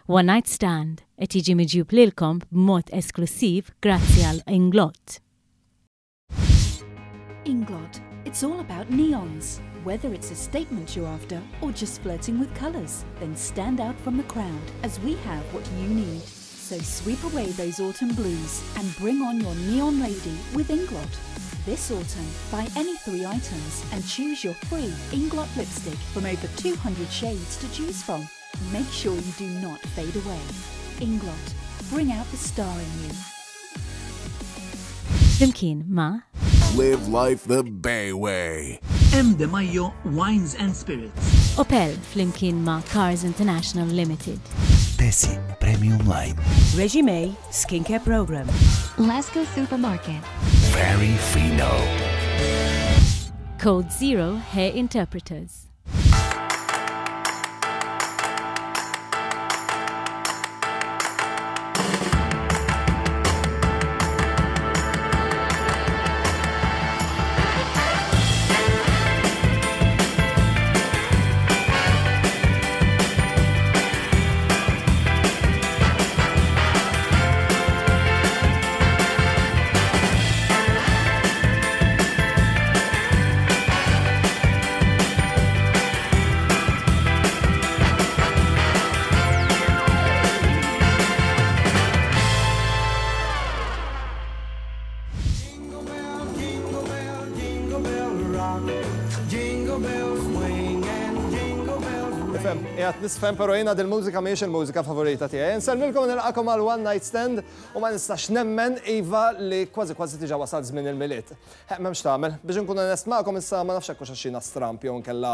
One Night Stand qed jiġi miġjub lilkom b'mod esklussiv grazzi għal Inglot. Inglot, it's all about neons. Whether it's a statement you're after or just flirting with colours, then stand out from the crowd as we have what you need. So sweep away those autumn blues and bring on your neon lady with Inglot. This autumn, buy any three items and choose your free Inglot lipstick from over 200 shades to choose from. Make sure you do not fade away. Inglot, bring out the star in you. Flimkien ma' Live life the Bay way. M. De Maio Wines and Spirits. Opel flimkien ma' Cars International Limited. Tesi Premium Line. Regime Skincare Program. Lasco Supermarket. Very Fino. Code Zero Hair Interpreters. Ifhem, qiegħed nisfhem però jiena dil-mużika mhijiex il-mużika favorita tiegħi. Insellmilkom u nilqakom għal One Night Stand u ma nistax nemmen iva li kważi kważi diġà wasal żmien il-Milied. Ħeq m'hemmx tagħmel. Biex inkun onest magħkom issa ma nafx hekk hux għax jiena stramp jew inkella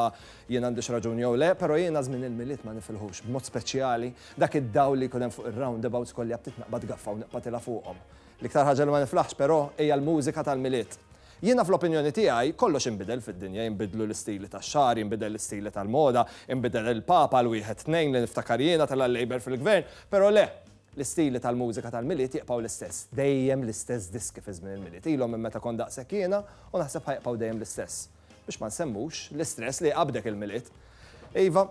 jien għandix raġun jew le, però jiena żmien il-Milied ma nifilħux, b'mod speċjali dak id-dawl li jkun hemm fuq ir-roundabouts kolli aptit naqbad gaffa u nqpatilha fuqhom. L-iktar ħaġa li ma niflaħx però hija l-mużika tal-Milied. Jiena fl-opinjoni tiegħi kollox inbidel fid-dinja, jinbidlu l-istili tax-xagħar, jinbidel l-istili tal-moda, inbidel il-Papa l-wieħed tnejn li niftakar jiena tela' l-Labour fil-Gvern, però le, L-istili tal-mużika tal-Milied jibqgħu l-istess. Dejjem l-istess diski fi żmien il-Milied. Ilhom minn meta kont daqshekk jiena u naħseb ħa jibqgħu dejjem l-istess. Biex ma nsemmux l-istress li jqabbdek il-Milied. Iva,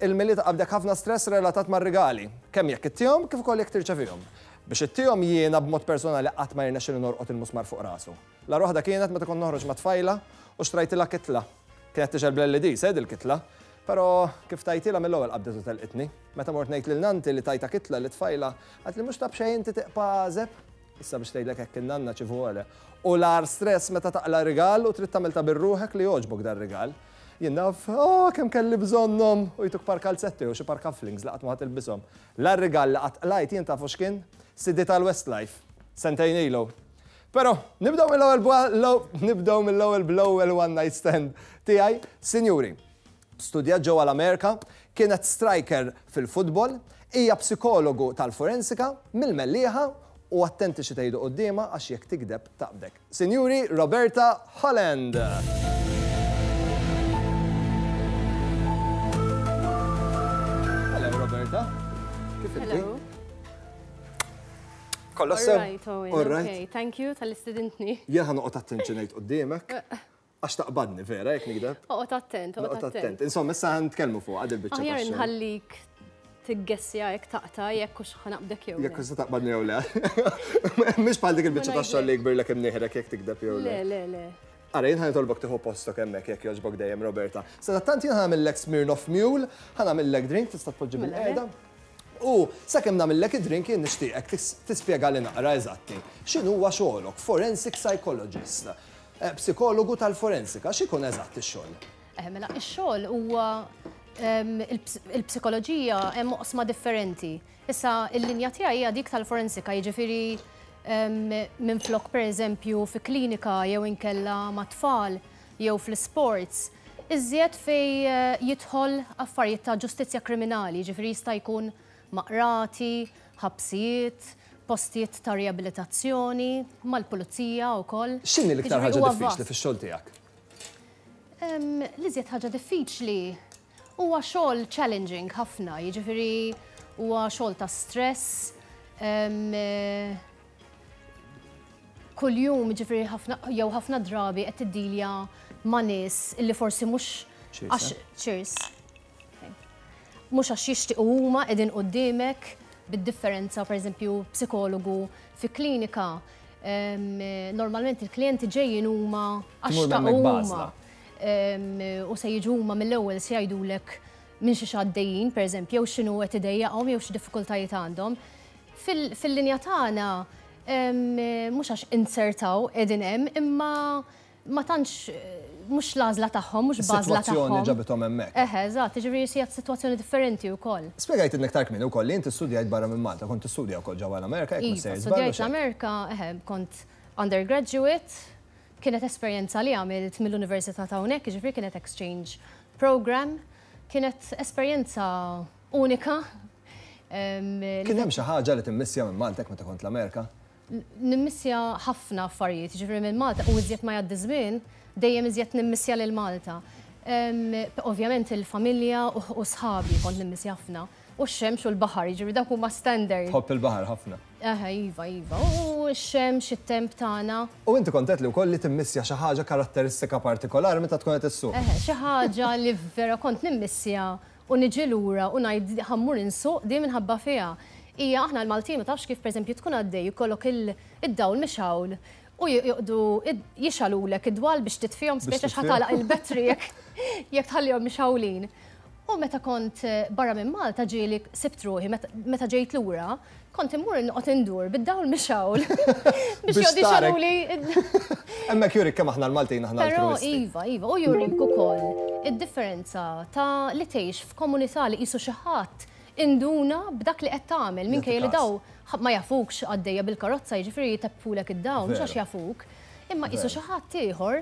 il-Milied iqabbdek ħafna stress relatat mar-rigali, kemm jekk ittihom kif ukoll jekk tirċevihom. Biex ittihom jiena b'mod personali qatt ma jirnexxili norqod il-musmar fuq rasu. L-agħar waħda kienet meta kont noħroġ ma' tfajla u xtrajtilha kitla. Kienet tixgħel bl-LEDs, eh, dil-kitla. Però kif tajtilha mill-ewwel qabdet u telqitni. Meta mort ngħid lil nannti li tajtha kitla lit-tfajla, qaltli mhux ta' b'xejn inti tiqpa' għażeb. Issa biex tgħidlek hekk in-nanna ci vuole. U l-agħar stress meta taqla' rigal u trid tagħmel ta' bir-ruħek li jogħġbok dar-rigal. Jien naf, oh, kemm kelli bżonnhom! U jtuk par kalzetti jew xi par cufflinks li qatt ma ħa tilbishom. L-agħar rigal li qatt qlajt jien tafu x'kien? CD tal-Westlife. Sentejn ilu. Però, nibdew mill-ewwel nibdew mill-ewwel bl-ewwel one night stand tiegħi. Sinjuri, studjat ġewwa l-Amerika, kienet striker fil-futbol, hija psikologu tal-forensika, mill-Mellieħa u attenti xi tgħidu quddiemha għax jekk tigdeb taqbdek. Sinjuri, Roberta Holland! Hello Roberta, kif inti? Hello. Kollox sew? All right, Owen. All right. Okay, thank you tal-istedintni. Jien ħa noqgħod attent xi ngħid quddiemek. Għax taqbadni vera jekk nigdeb. Oqgħod attent, oqgħod attent. Insomma, issa ħa nitkellmu fuq għad il-biċċa. Aħjar inħallik tiggessja jekk taqta' jekk hux ħa naqbdek jew le. Jekk hux se taqbadni jew le. Mhix bħal dik il-biċċa tax-xogħol li jkbirlek imnieħrek jekk tikdeb jew le. Le, le, le. Ara, jien ħa nitolbok tieħu postok hemmhekk jekk jogħġbok dejjem, Roberta. Sadattant jien ħa nagħmillek Smirnoff Mule, ħa nagħmillek drink, tista' tpoġġi Mela, bil-qiegħda. U sakemm nagħmillek id-drink jien nixtieqek tispjegali naqra eżatti x'inhuwa xogħlok, forensic psychologist, psikologu tal-forensika, x'ikun eżatt ix-xogħol? Eh, mela, ix-xogħol huwa il-psikoloġija hemm oqsma differenti. Issa il-linja tiegħi hija dik tal-forensika, jiġifieri minflok pereżempju fi klinika jew inkella mat-tfal jew fl-isports, iżjed fejn jidħol affarijiet ta' ġustizzja kriminali, jiġifieri jista' jkun ma' qrati, ħabsijiet, postijiet ta' riabilitazzjoni, mal-pulizija wkoll. X'inhi l-iktar ħaġa diffiċli fix-xogħol tiegħek? L-iżjed ħaġa diffiċli huwa xogħol challenging ħafna, jiġifieri huwa xogħol ta' stress, kuljum ġifieri ħafna jew ħafna drabi qed tiddilja ma' nies illi forsi mhux għax cheers. mhux għax jixtiequ huma qegħdin quddiemek bid-differenza pereżempju psikologu fi klinika normalment il-klijenti ġejjin huma għax xtaqu huma. U se jiġu huma mill-ewwel se jgħidulek minn xiex għaddejjin, pereżempju, jew x'inhu qed idejjaqhom jew x'diffikultajiet għandhom. Fil-linja tagħna mhux għax inzertaw qegħdin hemm, imma ma tantx mhux l-għażla tagħhom, mhux b'għażla tagħhom. Is-sitwazzjoni ġabithom hemmhekk. Eħe, eżatt, jiġifieri hija sitwazzjoni differenti wkoll. Spjegajtilna iktar kmieni wkoll li inti studjajt barra minn Malta, kont tistudja wkoll ġewwa l-Amerika jekk mhux sejjer żball. Iva, studjajt l-Amerika, eħe, kont undergraduate, kienet esperjenza li għamilt mill-Università ta' hawnhekk, jiġifieri kienet exchange program, kienet esperjenza unika. Kien hemm xi ħaġa li timmissja minn Malta hekk meta kont l-Amerika? Nimmissja ħafna affarijiet, jiġifieri minn Malta u iżjed ma jgħaddi żmien, dejjem iżjed nimmissja lil Malta. Ovvjament il-familja u sħabi kont nimmissja ħafna. U x-xemx u l-baħar, jiġifieri dawk huma standard. Tħobb il-baħar ħafna. Eħe, iva, iva. U x-xemx, it-temp tagħna. U inti kont għedt li wkoll li timmissja xi ħaġa karatteristika partikolari meta tkun qed issuq. Eħe, xi ħaġa li vera kont nimmissja u niġi lura u ngħid ħa mmur insuq din minħabba fiha. Hija aħna l-Maltin ma tafx kif pereżempju tkun għaddej jkollok id-dawl mixgħul u joqogħdu jixgħalulek id-dwal biex titfihom speċi għax ħa tagħlaq il-battery jekk tħallihom mixgħulin. U meta kont barra minn Malta ġieli sibt ruħi meta ġejt lura Kont immur noqgħod indur bid-dawl mixgħul biex joqgħdu jxaluli. Hemmhekk jurik kemm aħna l-Maltin aħna Però iva, iva, u jurik ukoll id-differenza ta' li tgħix f'komunità li qisu xi ħadd induna b'dak li qed tagħmel minkejja li daw ma jafukx għaddejja bil-karozza jiġifieri jteppulek id-dawl mhux għax jafuk, imma qisu xi ħadd ieħor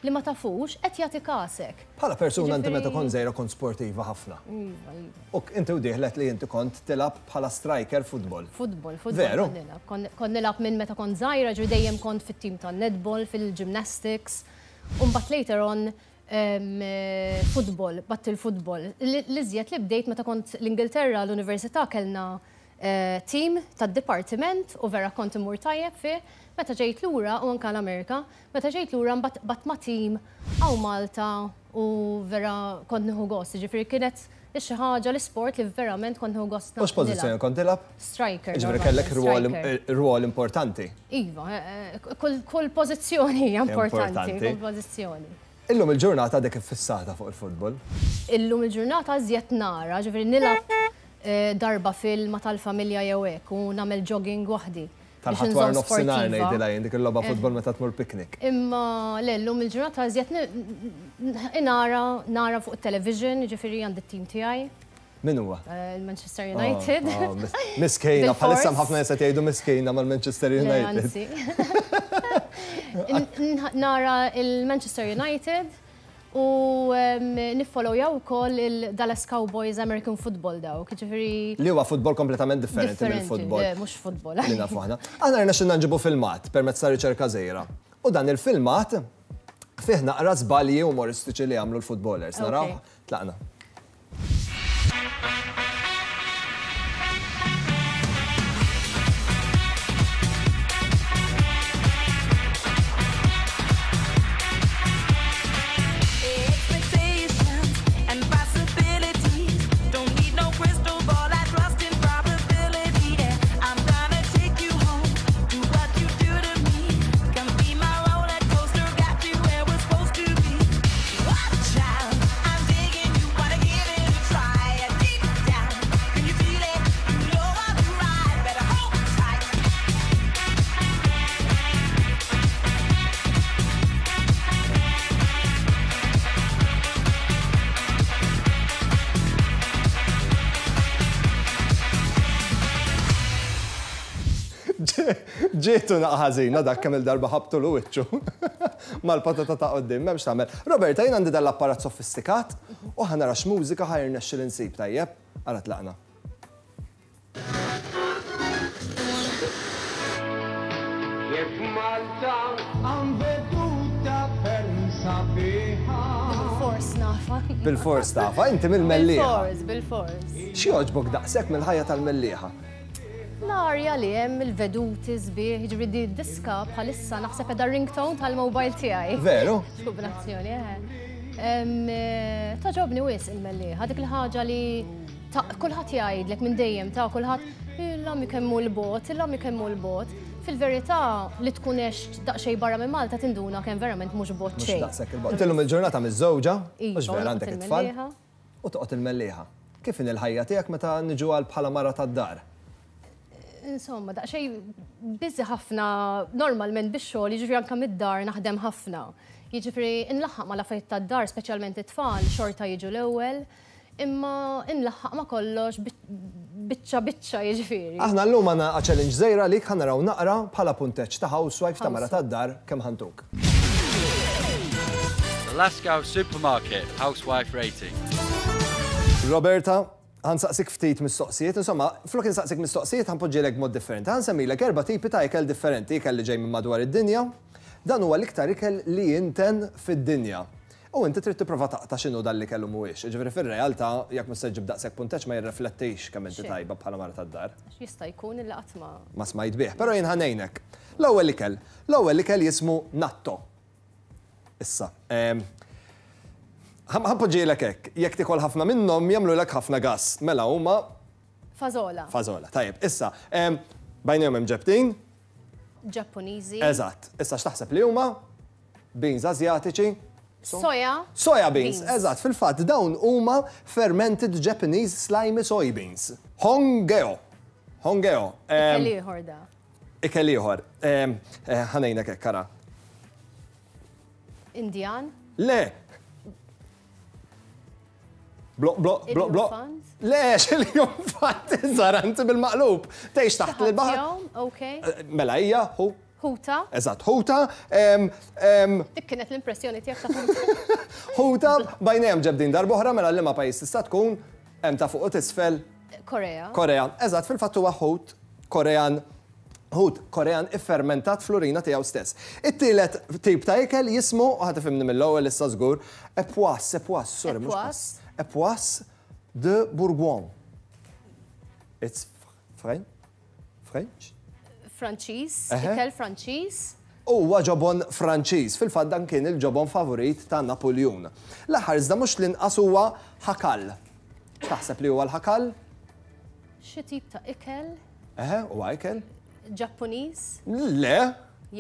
li ma tafux qed jagħti kasek. Bħala persuna inti meta kont żgħira kont sportiva ħafna. Iva, iva. U inti u dieħlet li inti kont tilgħab bħala striker futbol. Futbol, futbol. Veru? Kont nilgħab. Kont nilgħab minn meta kont żgħira, ġifieri dejjem kont fit-tim tan-netball, fil-gymnastics. U mbagħad later on futbol, batt il-futbol. L-iżjed li bdejt meta kont l-Ingilterra l-università kellna team tad-dipartiment u vera kont immur tajjeb fih. Meta ġejt lura u anke l-Amerika, meta ġejt lura mbagħad qbadt ma' team hawn Malta u vera kont nieħu gost. Jiġifieri kienet xi ħaġa l-isport li verament kont nieħu gost nilgħab. U x'pożizzjoni kont tilgħab? Striker. Jiġifieri kellek rwol importanti. Iva, kull pożizzjoni hija importanti. Kull pożizzjoni. Illum il-ġurnata għadek iffissata fuq il-futbol? Illum il-ġurnata iżjed nara, ġifieri nilgħab darba fil ma' tal-familja jew hekk u nagħmel jogging waħdi. Tal-Ħadd wara nofsinhar ngħidilha jien dik il-logħba futbol meta tmur picnic. Imma le llum il-ġurnata iżjed nara nara fuq it-television, jiġifieri għandi t-tim tiegħi. Min huwa? Il-Manchester United. Miskejna, bħalissa hemm ħafna nies qed jgħidu miskejna mal-Manchester United. Nara il-Manchester United U niffollowjaw ukoll il-Dallas Cowboys American Football dawk, jiġifieri. Li huwa futbol kompletament differenti mill-futbol. Le, mhux futbol. Li nafu aħna. Aħna rnexxilna nġibu filmat permezz ta' riċerka żgħira. U dan il-filmat fih naqra żbalji umoristiċi li għamlu l-footballers. Naraw? Tlaqna. Ġietu naqa ħażina dak kemm il-darba ħabtulu wiċċu mal-patata ta' quddiem, m'hemmx tagħmel. Roberta, jien għandi dan l-apparat sofistikat u ħa nara x'mużika ħa jirnexxili nsib, tajjeb? Ara tlaqna. Jekk Malta hawn veduta ferm sabiħa. Bilfors nafha. Bilfors tafha, inti mill-Mellieħa. Bilfors, bilfors. X'jogħġbok daqshekk mill-ħajja tal-Mellieħa? L-arja li hemm, il-veduti sbieħ, jiġifieri di d-diska bħalissa naħseb qiegħda ringtone tal-mobile tiegħi. Veru? X'kombinazzjoni, eħe. Togħġobni wisq il-Mellieħa, dik il-ħaġa li Kulħadd jgħidlek minn dejjem ta' kulħadd il-għami kemm hu 'l bogħod, il-għami kemm hu 'l bogħod. Fil-verità li tkun għext daqsxejn barra minn Malta tinduna kemm verament mhux bogħod xejn. Mhux daqshekk 'il bogħod. Inti llum il-ġurnata miżżewġa, mhux Iva, u vera noqgħod għandek it-tfal il-Mellieħa. u toqgħod il-Mellieħa. Kif inhi l-ħajja tiegħek meta niġu għal bħala mara tad-dar? Insomma, daqsxejn busy ħafna normalment bix-xogħol, jiġifieri anke mid-dar naħdem ħafna. Jiġifieri nlaħħaq mal-affarijiet tad-dar, speċjalment it-tfal, xorta jiġu l-ewwel. Imma inlaħħaq ma' kollox biċċa biċċa jiġifieri. Aħna llum għandna challenge żgħira għalik ħa naraw naqra bħala punteġġ ta' housewife ta' mara tad-dar kemm ħa ntuk. The Lascaux Supermarket Housewife Rating. Roberta, ħa nsaqsik ftit mistoqsijiet, insomma, flok insaqsik mistoqsijiet ħa npoġġielek b'mod differenti. Ħa nsemmilek erba' tipi ta' ikel differenti, ikel li ġej minn madwar id-dinja. Dan huwa l-iktar ikel li jinten fid-dinja. U inti trid tipprova taqta' x'inhu dan l-ikel u mhuwiex. Jiġifieri fir-realtà, jekk mhux se ġġib daqshekk punteġġ ma jirreflettix kemm inti tajba bħala mara tad-dar. Għax jista' jkun illi qatt ma. Ma smajt bih. Però jien ħa ngħinek. L-ewwel ikel. L-ewwel ikel jismu natto. Issa, ħa npoġġielek hekk. Jekk tiekol ħafna minnhom jagħmlulek ħafna gass. Mela huma. Fażola. Fażola, tajjeb. Issa, bajnejhom hemm ġebtin. Ġappuniżi. Eżatt. Issa x'taħseb li huma? Beans Asjatiċi. Soja. Soja beans, eżatt, fil-fatt dawn huma fermented Japanese slimy soybeans. Hongeo. Hongeo. Ikel ieħor da. Ikel ieħor. Ħa ngħinek hekk, ara. Indjan? Le. Blo, blo, blo, blo. Le, xil-jumfant, zaranti bil-maqlub. Tgħix taħt il-baħar. Ok. Mela hija, hu. Ħuta. Eżatt, ħuta. Dik kienet l-impressjoni tiegħek ta' ħuta. Ħuta, bajnejhom ġebdin darb'oħra mela liema pajjiż tista' tkun hemm ta' fuq u t'isfel. Korea. Korea. Eżatt, fil-fatt huwa ħut Korean ħut Korean iffermentat fl-urina tiegħu stess. It-tielet tip ta' ikel jismu, u ħa tifhimni mill-ewwel issa żgur, Epoisse, Epoisse, sorry, mhux Epoisse. Epoisse de Bourgogne. It's French? French? Franċiż, ikel Franċiż. Huwa ġobon Franċiż, fil-fatt dan kien il-ġobon favorit ta' Napuljun. L-aħħar iżda mhux l-inqas huwa ħakal. X'taħseb li huwa l-ħakal? Xi tip ta' ikel? Eħe, huwa ikel. Ġappuniż? Le.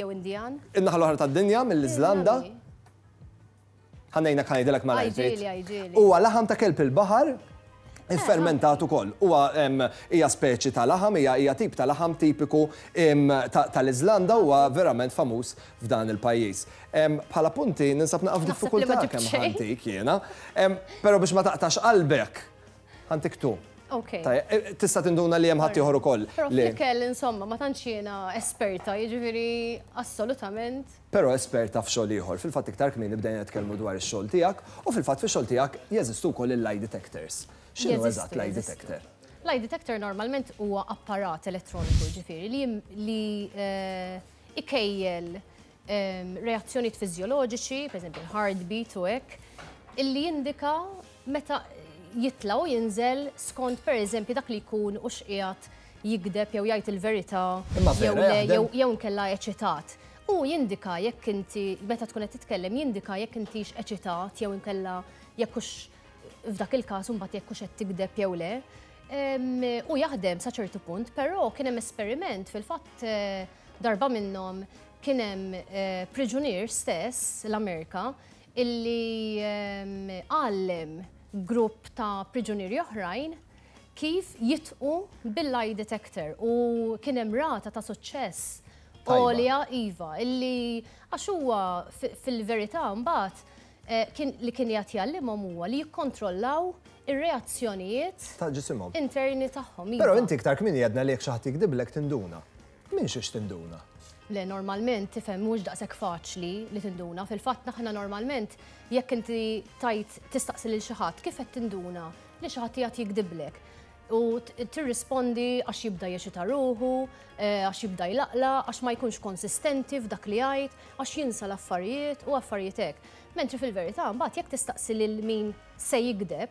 Jew Indjan? In-naħa l-oħra tad-dinja, mill-Iżlanda. Ħa ngħinek ħa ngħidilek malajr ftit. Għidili, għidili. Huwa laħam ta' kelb il-baħar iffermentat ukoll. Huwa hija speċi ta' laħam, hija hija tip ta' laħam tipiku tal-Iżlanda huwa verament famuż f'dan il-pajjiż. Bħala punti ninsab naqa' f'diffikultà kemm ħantik jiena. Però biex ma taqtax qalbek, ħantik tu. Ok. Tista' tinduna li hemm ħaddieħor ukoll. Però fl-ikel insomma ma tantx jiena esperta, jiġifieri assolutament. Però esperta f'xogħol ieħor. Fil-fatt iktar kmieni bdejna nitkellmu dwar ix-xogħol tiegħek u fil-fatt fix-xogħol tiegħek jeżistu wkoll il-lie detectors. X'inhu eżatt lie detector? Lie detector normalment huwa apparat elettroniku jiġifieri li li ikejjel reazzjonijiet fiżjoloġiċi, pereżempju l-heartbeat u hekk, illi jindika meta jitla' u jinżel skont pereżempju dak li jkun hux qiegħed jigdeb jew jgħid il-verità jew le jew inkella eċitat. Hu jindika jekk inti meta tkun qed titkellem jindika jekk intix eċitat jew inkella jekk hux f'dak il-każ imbagħad jekk hux qed tigdeb jew le. Hu jaħdem sa ċertu punt, però kien hemm esperiment fil-fatt darba minnhom kien hemm priġunier stess l-Amerika illi għallem grupp ta' priġunieri oħrajn kif jitqu bil-lie detector u kien hemm rata ta' suċċess għolja iva illi għax huwa fil-verità mbagħad kien li kien qiegħed jgħallimhom huwa li jikkontrollaw ir-reazzjonijiet Ta' ġisimhom. interni tagħhom. Però Iva. inti iktar kmieni għedna li jekk xi ħadd jikdiblek tinduna. Minn xiex tinduna? Le, normalment tifhem mhux daqshekk faċli li tinduna. Fil-fatt aħna normalment jekk inti tajt tistaqsi lil xi ħadd kif qed tinduna li xi ħadd qiegħed jikdiblek. U tirrispondi għax jibda jeċita ruħu, għax jibda jlaqlaq, għax ma jkunx konsistenti f'dak li jgħid, għax jinsa l-affarijiet u affarijiet hekk. Mentri fil-verità mbagħad jekk tistaqsi lil min se jigdeb,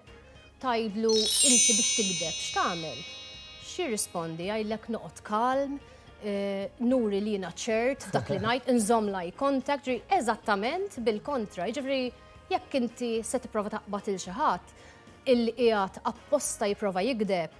tgħidlu inti biex tigdeb x'tagħmel? X'jirrispondi? Jgħidlek noqgħod kalm, nuri li jiena ċert f'dak li ngħid, inżomm l-eye contact, ġifieri eżattament bil-kontra. Jiġifieri jekk inti se tipprova taqbad il xi ħadd, illi qiegħed apposta jipprova jigdeb,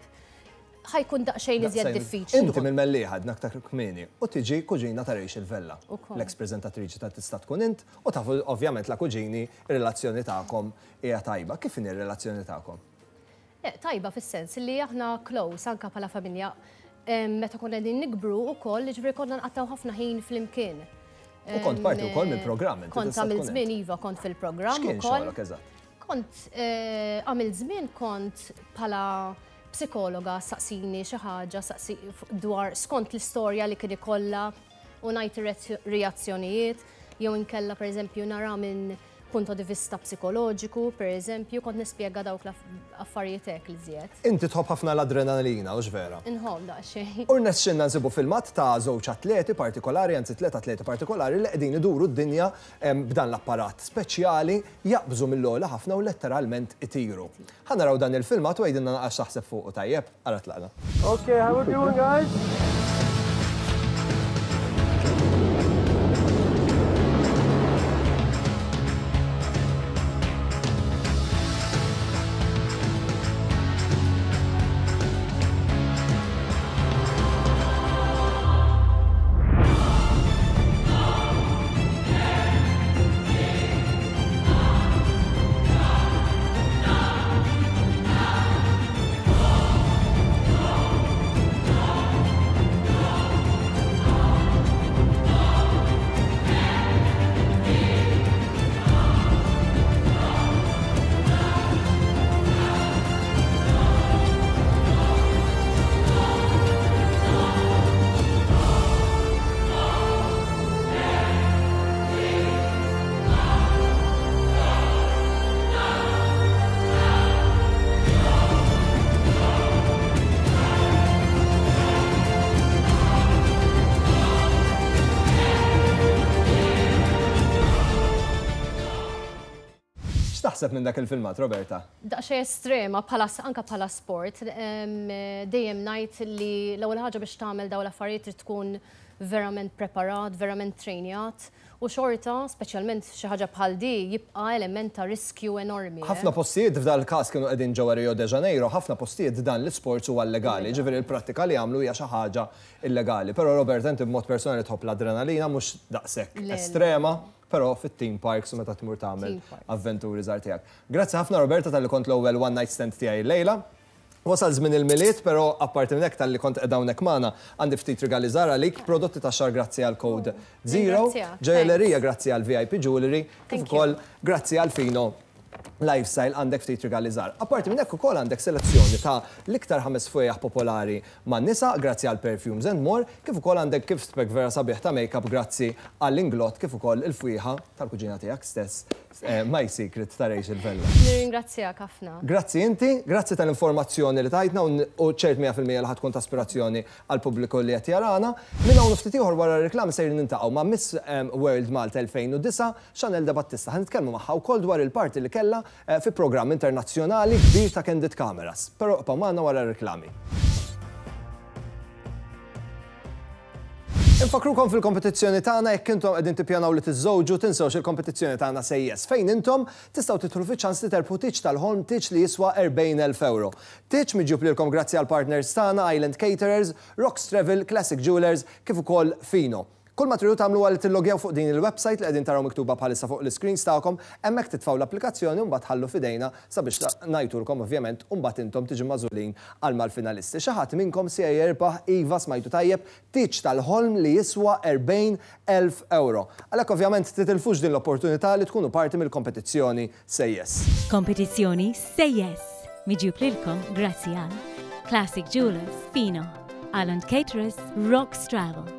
ħa jkun daqsxejn iżjed diffiċli. Inti mill-Mellieħa għedna aktar kmieni u tiġi kuġina ta' Rachel Vella, l-eks preżentatriċi ta' Tista' Tkun Int u tafu ovvjament la kuġini r-relazzjoni tagħkom hija tajba. Kif inhi r-relazzjoni tagħkom? Le, tajba fis-sens li aħna close anke bħala familja. Meta konna qegħdin nikbru wkoll, jiġifieri konna nqattgħu ħafna ħin flimkien. U kont parti wkoll mill-programm. Kont għamilt żmien iva, kont fil-programm. X'kien xogħlok eżatt? Kont għamilt żmien kont bħala psikologa saqsini xi ħaġa saqsi dwar skont l-istorja li kien ikollha u ngħid ir-reazzjonijiet jew inkella pereżempju nara minn punto di vista psikoloġiku, pereżempju, kont nispjega dawk l-affarijiet hekk li żjed. Inti tħobb ħafna l-adrenalina, hux vera? Inħobb daqsxejn. U rnexxilna nsibu filmat ta' żewġ atleti partikolari, anzi tliet atleti partikolari li qegħdin iduru d-dinja b'dan l-apparat speċjali, jaqbżu mill-ogħla ħafna u letteralment itiru. Ħa naraw dan il-filmat u għidilna naqra x'taħseb fuqu tajjeb? Ara tlaqna. Okay, how we doing guys? X'taħseb minn dak il-filmat, Roberta? Daqsxejn estrema bħala anke bħala sport. Dejjem ngħid li l-ewwel ħaġa biex tagħmel dawn l-affarijiet trid tkun verament preparat, verament trejnjat u xorta, speċjalment xi ħaġa bħal di, jibqa' element ta' riskju enormi. Ħafna postijiet, f'dal-każ kienu qegħdin ġewwa Rio de Janeiro, ħafna postijiet dan l-isports huwa llegali, jiġifieri l-prattika li għamlu hija xi ħaġa illegali. Però Roberta inti b'mod personali tħobb l-adrenalina mhux daqshekk estrema, però fit-theme parks u meta tmur tagħmel avventuri żgħar tiegħek. Grazzi ħafna Roberta talli kont l-ewwel one night stand tiegħi llejla. Wasal żmien il-Milied, però apparti minn hekk talli kont qiegħda hawnhekk magħna, għandi ftit rigali żgħar għalik, prodotti tax-xagħar grazzi għal Code Zero, ġojellerija grazzi għal VIP Jewellery, kif ukoll grazzi għal Fino Lifestyle għandek ftit rigali żgħar. Apparti minn hekk ukoll għandek selezzjoni ta' l-iktar ħames fwejjaħ popolari man-nisa grazzi għal Perfumes and More, kif ukoll għandek gift pack vera sabiħ ta' makeup grazzi għal Inglot kif ukoll il-fwieħa tal-kuġina tiegħek stess My Secret ta' Rachel Vella. Nirringrazzjak ħafna. Grazzi inti, grazzi tal-informazzjoni li tajtna u ċert 100% li ħa tkun ta' ispirazzjoni għall-pubbliku li qed jarana. Minn hawn u ftit ieħor wara r-riklami sejrin niltaqgħu ma' Miss World Malta 2009, Chanelle Debattista. Ħa nitkellmu magħha wkoll dwar il-parti li kellha fi programm internazzjonali kbir ta' Candid Cameras. Però ibqgħu magħna wara r-riklami. Infakkrukom fil-kompetizzjoni tagħna jekk intom qegħdin tippjanaw li tiżżewġu tinsewx il-kompetizzjoni tagħna Say Yes fejn intom tistgħu tidħlu fiċ-ċans li terbħu tieġ tal-ħolm tieġ li jiswa 40,000 ewro. Tieġ miġjub lilkom grazzi għall-partners tagħna Island Caterers, Rocks Travel, Classic Jewellers kif ukoll Fino. Kull ma tridu tagħmlu huwa li tillogjaw fuq din il-website li qegħdin taraw miktuba bħalissa fuq l-iscreens tagħkom, hemmhekk titfgħu l-applikazzjoni u mbagħad ħallu f'idejna sabiex ngħidulkom ovvjament u mbagħad intom tiġu magħżulin għal mal-finalisti. Xi ħadd minnkom se jirbaħ, iva smajtu tajjeb, tieġ tal-ħolm li jiswa 40,000 ewro. Għalhekk ovvjament titilfux din l-opportunità li tkunu parti mill-kompetizzjoni Say Yes. Kompetizzjoni Say Yes! Miġjub lilkom grazzi għal Classic Jewelers, Fino, Island Caterers, Rocks Travel.